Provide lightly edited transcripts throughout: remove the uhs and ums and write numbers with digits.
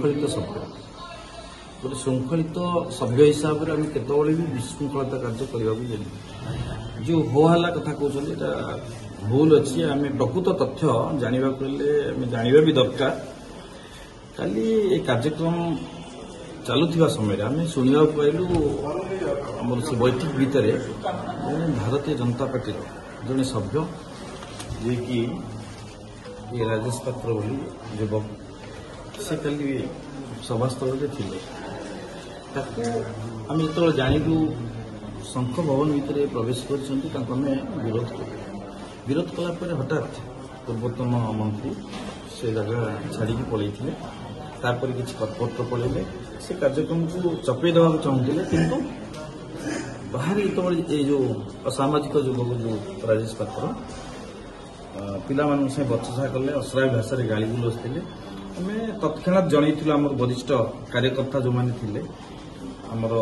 ଶୃଙ୍ଖଳିତ ସଭ୍ୟ। ଗୋଟେ ଶୃଙ୍ଖଳିତ ସଭ୍ୟ ହିସାବରେ ଆମେ କେତେବେଳେ ବି ବିଶୃଙ୍ଖଳତା କାର୍ଯ୍ୟ କରିବାକୁ ଦେନି। ଯେଉଁ ହୋ ହାଲ୍ଲା କଥା କହୁଛନ୍ତି, ଏଇଟା ଭୁଲ ଅଛି। ଆମେ ପ୍ରକୃତ ତଥ୍ୟ ଜାଣିବାକୁ ହେଲେ ଆମେ ଜାଣିବା ବି ଦରକାର। କାଲି ଏ କାର୍ଯ୍ୟକ୍ରମ ଚାଲୁଥିବା ସମୟରେ ଆମେ ଶୁଣିବାକୁ ପାଇଲୁ, ଆମର ସେ ବୈଠକ ଭିତରେ ଜଣେ ଭାରତୀୟ ଜନତା ପାର୍ଟିର ଜଣେ ସଭ୍ୟ, ଯିଏକି ଏ ରାଜେଶ ପାତ୍ର ବୋଲି ଯୁବକ, ସେ କାଲି ସଭାସ୍ଥଳରେ ଥିଲେ। ତାକୁ ଆମେ ଯେତେବେଳେ ଜାଣିଲୁ ଶଙ୍ଖ ଭବନ ଭିତରେ ପ୍ରବେଶ କରିଛନ୍ତି, ତାଙ୍କୁ ଆମେ ବିରୋଧ କଲୁ। ବିରୋଧ କଲା ପରେ ହଠାତ୍ ପୂର୍ବତନ ମନ୍ତ୍ରୀ ସେ ଜାଗା ଛାଡ଼ିକି ପଳେଇଥିଲେ। ତାପରେ କିଛି କର୍ପୋରେଟର ପଳେଇଲେ। ସେ କାର୍ଯ୍ୟକ୍ରମକୁ ଚପେଇ ଦେବାକୁ ଚାହୁଁଥିଲେ, କିନ୍ତୁ ବାହାରେ ଯେତେବେଳେ ଏଇ ଯେଉଁ ଅସାମାଜିକ ଯୁବକ ଯେଉଁ ରାଜେଶ ପାତ୍ର ପିଲାମାନଙ୍କ ସାଙ୍ଗେ ବଚସା କଲେ, ଅଶ୍ରାବ୍ୟ ଭାଷାରେ ଗାଳି ଗୁଲଜ ଥିଲେ, ଆମେ ତତ୍କ୍ଷଣାତ୍ ଜଣେଇଥିଲୁ ଆମର ବରିଷ୍ଠ କାର୍ଯ୍ୟକର୍ତ୍ତା ଯେଉଁମାନେ ଥିଲେ ଆମର,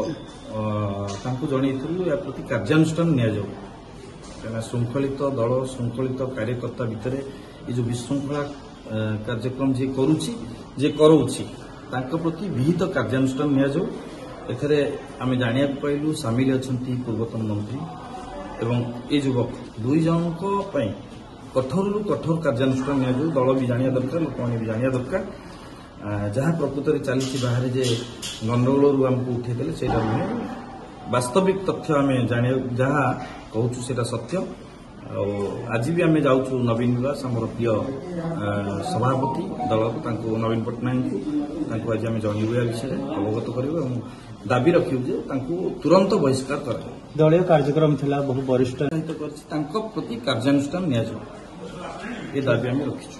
ତାଙ୍କୁ ଜଣେଇଥିଲୁ ଏହା ପ୍ରତି କାର୍ଯ୍ୟାନୁଷ୍ଠାନ ନିଆଯାଉ। କାହିଁକିନା ଶୃଙ୍ଖଳିତ ଦଳ, ଶୃଙ୍ଖଳିତ କାର୍ଯ୍ୟକର୍ତ୍ତା ଭିତରେ ଏ ଯେଉଁ ବିଶୃଙ୍ଖଳା କାର୍ଯ୍ୟକ୍ରମ ଯିଏ କରୁଛି, ଯିଏ କରାଉଛି, ତାଙ୍କ ପ୍ରତି ବିହିତ କାର୍ଯ୍ୟାନୁଷ୍ଠାନ ନିଆଯାଉ। ଏଥିରେ ଆମେ ଜାଣିବାକୁ ପାଇଲୁ ସାମିଲ ଅଛନ୍ତି ପୂର୍ବତନ ମନ୍ତ୍ରୀ ଏବଂ ଏ ଯୁବକ। ଦୁଇ ଜଣଙ୍କ ପାଇଁ କଠୋରରୁ କଠୋର କାର୍ଯ୍ୟାନୁଷ୍ଠାନ ନିଆଯାଉ। ଦଳ ବି ଜାଣିବା ଦରକାର, ଲୋକମାନେ ବି ଜାଣିବା ଦରକାର, ଯାହା ପ୍ରକୃତରେ ଚାଲିଛି ବାହାରେ ଯେ ଗଣ୍ଡଗୋଳରୁ ଆମକୁ ଉଠେଇଦେଲେ, ସେଇଟା ନୁହେଁ। ବାସ୍ତବିକ ତଥ୍ୟ ଆମେ ଜାଣିବା, ଯାହା କହୁଛୁ ସେଇଟା ସତ୍ୟ। ଆଉ ଆଜି ବି ଆମେ ଯାଉଛୁ ନବୀନ ନିବାସ, ଆମର ପ୍ରିୟ ସଭାପତି ଦଳକୁ, ତାଙ୍କୁ ନବୀନ ପଟ୍ଟନାୟକଙ୍କୁ, ତାଙ୍କୁ ଆଜି ଆମେ ଜଣେଇବୁ, ଏହା ବିଷୟରେ ଅବଗତ କରିବୁ ଏବଂ ଦାବି ରଖିବୁ ଯେ ତାଙ୍କୁ ତୁରନ୍ତ ବହିଷ୍କାର କରାଯାଉ। ଦଳୀୟ କାର୍ଯ୍ୟକ୍ରମ ଥିଲା, ବହୁ ବରିଷ୍ଠ କରିଛି, ତାଙ୍କ ପ୍ରତି କାର୍ଯ୍ୟାନୁଷ୍ଠାନ ନିଆଯାଉ, ଏ ଦାବି ଆମେ ରଖିଛୁ।